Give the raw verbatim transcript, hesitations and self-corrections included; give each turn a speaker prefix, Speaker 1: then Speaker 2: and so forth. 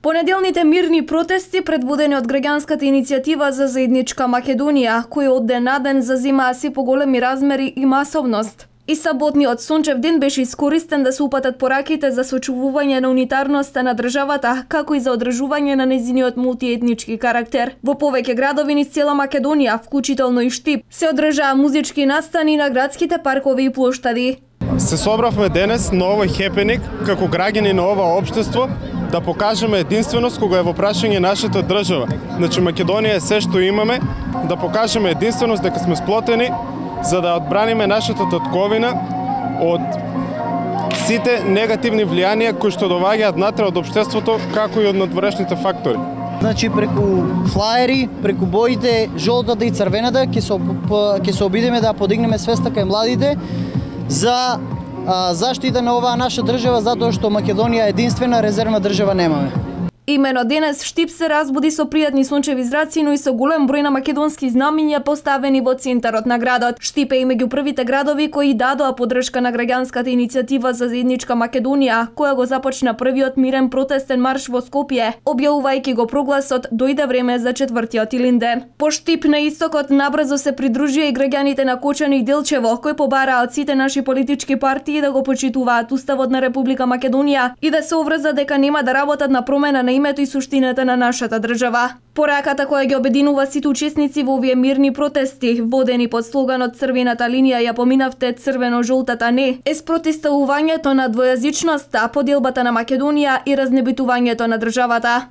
Speaker 1: Понеделните мирни протести, предводени од граѓанската иницијатива за заедничка Македонија, кои од ден на ден зазимаа се поголеми размери и масовност. И саботниот сончев ден беше искористен да се упатат пораките за сочувување на унитарноста на државата, како и за одржување на нејзиниот мултиетнички карактер. Во повеќе градови низ цела Македонија, вклучително и Штип, се одржаа музички настани на градските паркови и плоштади.
Speaker 2: Се собравме денес на овој хепеник како граѓани на ова општество да покажеме единственост кога е во прашање нашата држава. Значи Македонија е се што имаме, да покажеме единственост дека сме сплотени за да одбраниме нашата татковина од сите негативни влијанија кои што доаѓаат натре од општеството, како и од надворешните фактори.
Speaker 3: Значи преку флаери, преку боите жолтата и црвената ќе се ќе се обидеме да подигнеме свеста кај младите за а, заштита на оваа наша држава, затоа што Македонија е единствена резервна држава немаме.
Speaker 1: Имено денес Штип се разбуди со пријатни сончеви зраци, но и со голем број на македонски знамиња поставени во центарот на градот. Штип е и меѓу првите градови кои дадоа поддршка на граѓанската иницијатива за заедничка Македонија, која го започна првиот мирен протестен марш во Скопје, објавувајќи го прогласот "Дојде време за четвртиот Илинден". По Штип на истокот набрзо се придружија и граѓаните на Кочани и Делчево, кои побараа од сите наши политички партии да го почитуваат Уставот на Република Македонија и да се оврзат дека нема да работат на промена на името и суштината на нашата држава. Пораката која ги обединува сите учесници во овие мирни протести, водени под слоганот "Црвената линија ја поминавте, црвено-жолтата не", е спротивставувањето на двојазичноста, поделбата на Македонија и разнебитувањето на државата.